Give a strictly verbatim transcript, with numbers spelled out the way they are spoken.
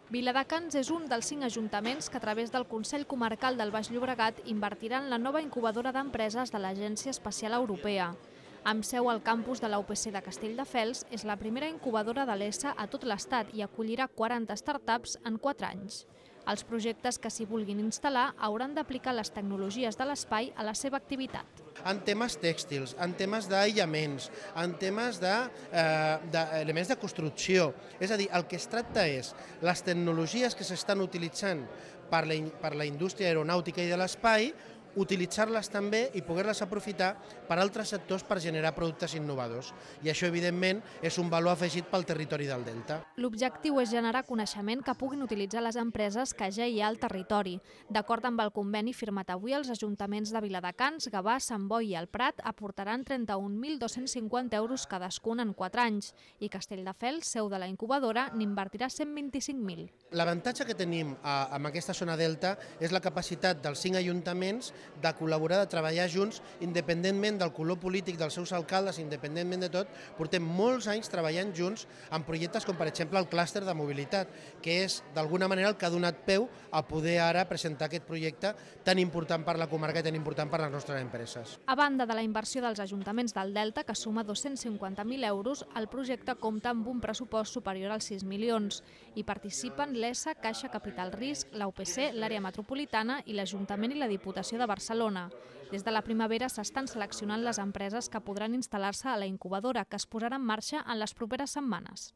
Viladecans és un dels cinc ajuntaments que a través del Consell Comarcal del Baix Llobregat invertiran en la nova incubadora d'empreses de l'Agència Espacial Europea. Amb seu al campus de la U P C de Castelldefels, és la primera incubadora de l'E S A a tot l'Estat i acollirà quaranta startups en quatre anys. Els projectes que s'hi vulguin instal·lar hauran d'aplicar les tecnologies de l'espai a la seva activitat. En temes tèxtils, en temes d'aïllaments, en temes d'elements de, de construcció. És a dir, el que es tracta és les tecnologies que s'estan utilitzant per la, per la indústria aeronàutica i de l'espai, utilitzar-les també i poder-les aprofitar per altres sectors per generar productes innovadors. I això, evidentment, és un valor afegit pel territori del Delta. L'objectiu és generar coneixement que puguin utilitzar les empreses que ja hi ha al territori. D'acord amb el conveni firmat avui, els ajuntaments de Viladecans, Gavà, Sant Boi i el Prat aportaran trenta-un mil dos-cents cinquanta euros cadascun en quatre anys i Castelldefels, seu de la incubadora, n'invertirà cent vint-i-cinc mil. L'avantatge que tenim amb aquesta zona Delta és la capacitat dels cinc ajuntaments de col·laborar, de treballar junts, independentment del color polític dels seus alcaldes, independentment de tot. Portem molts anys treballant junts en projectes com, per exemple, el clúster de mobilitat, que és, d'alguna manera, el que ha donat peu a poder ara presentar aquest projecte tan important per la comarca i tan important per les nostres empreses. A banda de la inversió dels ajuntaments del Delta, que suma dos-cents cinquanta mil euros, el projecte compta amb un pressupost superior als sis milions. Hi participen l'E S A, Caixa Capital Risc, la U P C, l'àrea metropolitana i l'Ajuntament i la Diputació de Barcelona. Des de la primavera s'estan seleccionant les empreses que podran instal·lar-se a la incubadora, que es posarà en marxa en les properes setmanes.